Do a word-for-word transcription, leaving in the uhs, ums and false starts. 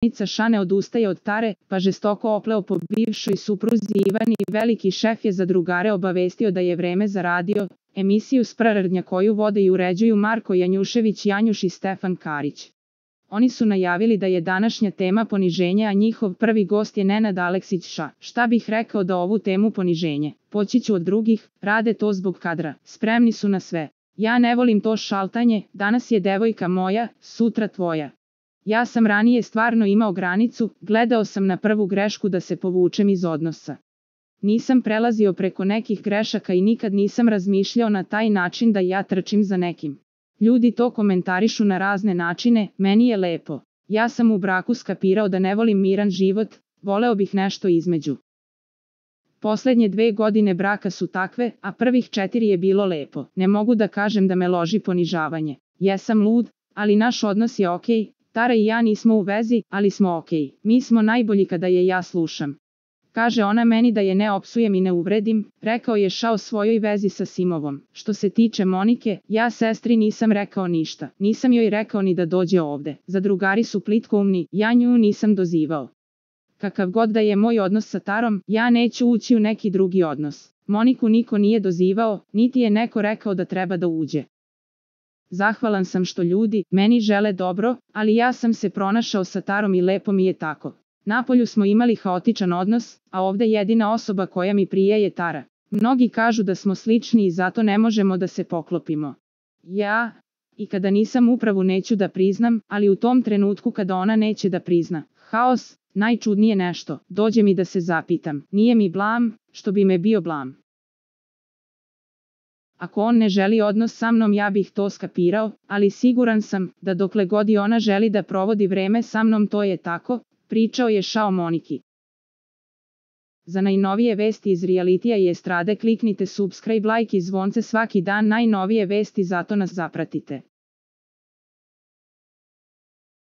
Tomica Ša ne odustaje od Tare, pa žestoko opleo po bivšoj supruzi Ivani. Veliki šef je za drugare obavestio da je vreme za radio emisiju Sprardnja koju vode i uređuju Marko Janjušević Janjuš i Stefan Karić. Oni su najavili da je današnja tema poniženje, a njihov prvi gost je Nenad Aleksić Ša. Šta bih rekao da ovu temu poniženje? Poći ću od drugih, rade to zbog kadra, spremni su na sve. Ja ne volim to šaltanje, danas je devojka moja, sutra tvoja. Ja sam ranije stvarno imao granicu, gledao sam na prvu grešku da se povučem iz odnosa. Nisam prelazio preko nekih grešaka i nikad nisam razmišljao na taj način da ja trčim za nekim. Ljudi to komentarišu na razne načine, meni je lepo. Ja sam u braku skapirao da ne volim miran život, voleo bih nešto između. Poslednje dve godine braka su takve, a prvih četiri je bilo lepo. Ne mogu da kažem da me loži ponižavanje. Jesam lud, ali naš odnos je okej. Tara i ja nismo u vezi, ali smo okej. Mi smo najbolji kada je ja slušam. Kaže ona meni da je ne opsujem i ne uvredim, rekao je Ša o svojoj vezi sa Simovom. Što se tiče Monike, ja sestri nisam rekao ništa. Nisam joj rekao ni da dođe ovde. Zadrugari su plitkoumni, ja nju nisam dozivao. Kakav god da je moj odnos sa Tarom, ja neću ući u neki drugi odnos. Moniku niko nije dozivao, niti je neko rekao da treba da uđe. Zahvalan sam što ljudi meni žele dobro, ali ja sam se pronašao sa Tarom i lepo mi je tako. Napolju smo imali haotičan odnos, a ovde jedina osoba koja mi prije je Tara. Mnogi kažu da smo slični i zato ne možemo da se poklopimo. Ja, i kada nisam upravu neću da priznam, ali u tom trenutku kada ona neće da prizna. Haos, najčudnije nešto, dođe mi da se zapitam, nije mi blam, što bi me bio blam. Ako on ne želi odnos sa mnom ja bih to skapirao, ali siguran sam da dokle god i ona želi da provodi vreme sa mnom to je tako, pričao je Ša o Moniki. Za najnovije vesti iz realitija i estrade kliknite subscribe, like i zvonce svaki dan, najnovije vesti, zato nas zapratite.